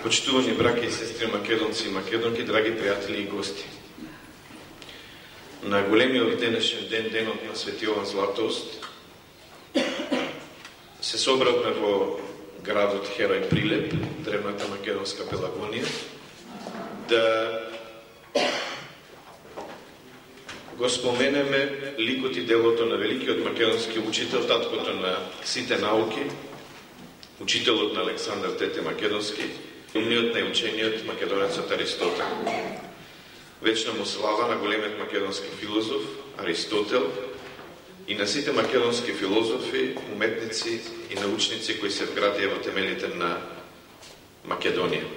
Почитувани браќа и сестри македонци и македонки, драги пријатели и гости. На големиот денешен ден, денот на Свети Јован Златоуст, се собравме во градот Херој Прилеп, древната македонска Пелагонија, да го споменеме ликот и делото на великиот македонски учител, таткото на сите науки, учителот на Александар Тете Македонски, умниот најучениот македонецот Аристотел. Вечна му слава на големиот македонски филозоф Аристотел и на сите македонски филозофи, уметници и научници кои се вградија во темелите на Македонија.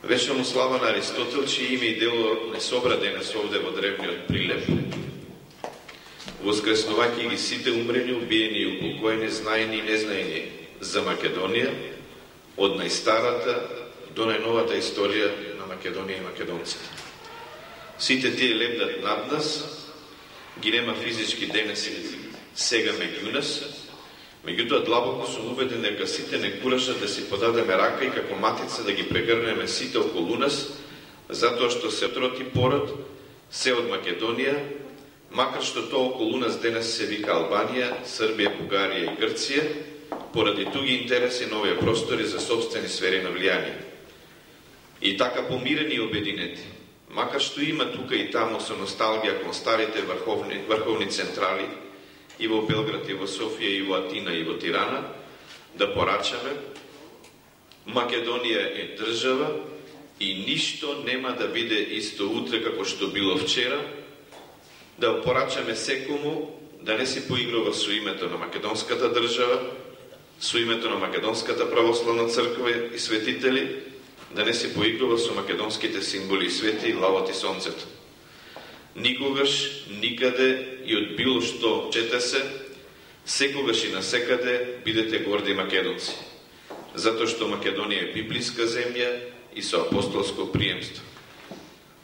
Вечна му слава на Аристотел, чие име и дело не собра денес овде во древниот Прилеп, воскреснувајќи ги сите умрени, убиени и упокоени, знаени и незнаени за Македонија, од најстарата до најновата историја на Македонија и македонците. Сите тие лебдат над нас, ги нема физички денес и сега меѓу нас, меѓутоа длабоко сум убеден дека сите не куражат да си подадеме рака и како матица да ги прегрнеме сите околу нас, затоа што се троти пород, се од Македонија, макар што тоа околу нас денес се вика Албанија, Србија, Бугарија и Грција, поради туги интереси на овие простори за собствени сфери на влијание. И така помирени и обединети, макар што има тука и таму со носталгија кон старите врховни централи и во Белград, и во Софија, и во Атина, и во Тирана, да порачаме, Македонија е држава и ништо нема да биде исто утре како што било вчера, да порачаме секому да не си поигрува со името на македонската држава, со името на Македонската православна црква и светители, да не се поигрува со македонските символи и свети и лавот и сонцето. Никогаш, никаде и од било што чете се, секогаш и насекаде бидете горди македонци, затоа што Македонија е библиска земја и со апостолско приемство.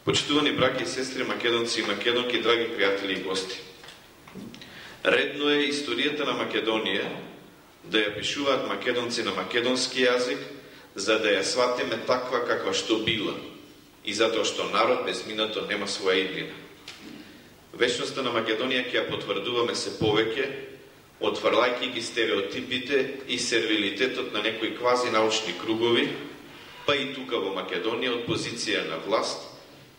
Почитувани браќа и сестри македонци и македонки, драги пријатели и гости, редно е историјата на Македонија да ја пишуваат македонци на македонски јазик, за да ја сватиме таква каква што била и затоа што народ без минато нема своја иднина. Вечноста на Македонија ќе ја потврдуваме се повеќе, отврлајќи ги стереотипите и сервилитетот на некои квази научни кругови, па и тука во Македонија од позиција на власт,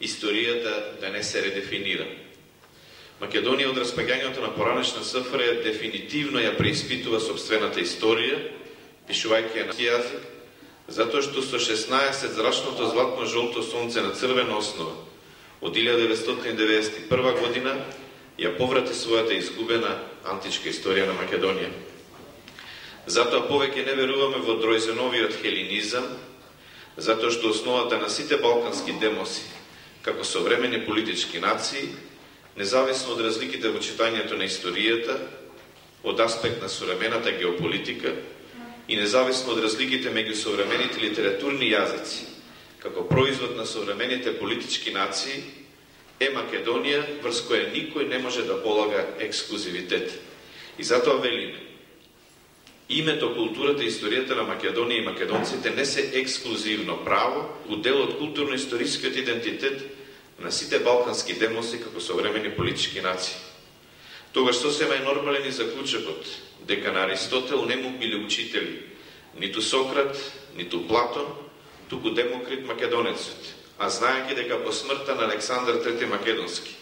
историјата да не се редефинира. Македонија од распаѓањето на поранешна СФР дефинитивно ја преиспитува собствената историја, пишувајќи ја на јазик, затоа што со 16 зрачното златно-жолто сонце на црвена основа од 1991 година ја поврати својата изгубена античка историја на Македонија. Затоа повеќе не веруваме во Дројзеновиот хелинизам, затоа што основата на сите балкански демоси, како современи политички нации, независно од разликите во читањето на историјата, од аспект на современата геополитика и независно од разликите меѓу современите литературни јазици, како производ на современите политички нации, е Македонија врз која никој не може да полага ексклузивитет. И затоа велиме, името, културата и историјата на Македонија и македонците не се ексклузивно право, удел од културно-историскиот идентитет на сите балкански демоси како современи политички нации. Тогаш сосема е нормален и заклучокот дека на Аристотел не му биле учители ниту Сократ, ниту Платон, туку Демокрит македонецот, а знаејќи дека по смртта на Александар Трети Македонски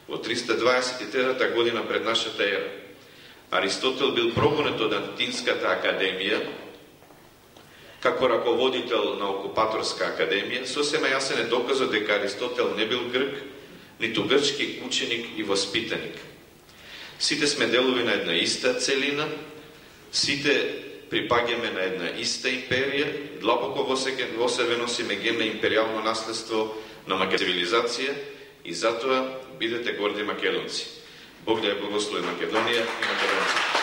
во 323 година пред нашата ера, Аристотел бил прогонет од Атинската академија како раководител на окупаторска академија, сосема јасен е доказот дека Аристотел не бил грк, ниту грчки ученик и воспитаник. Сите сме делови на една иста целина, сите припаѓаме на една иста империја, длабоко во себе носиме ген на империјално наследство на цивилизација и затоа бидете горди македонци. Бог да ја благослови Македонија и македонците.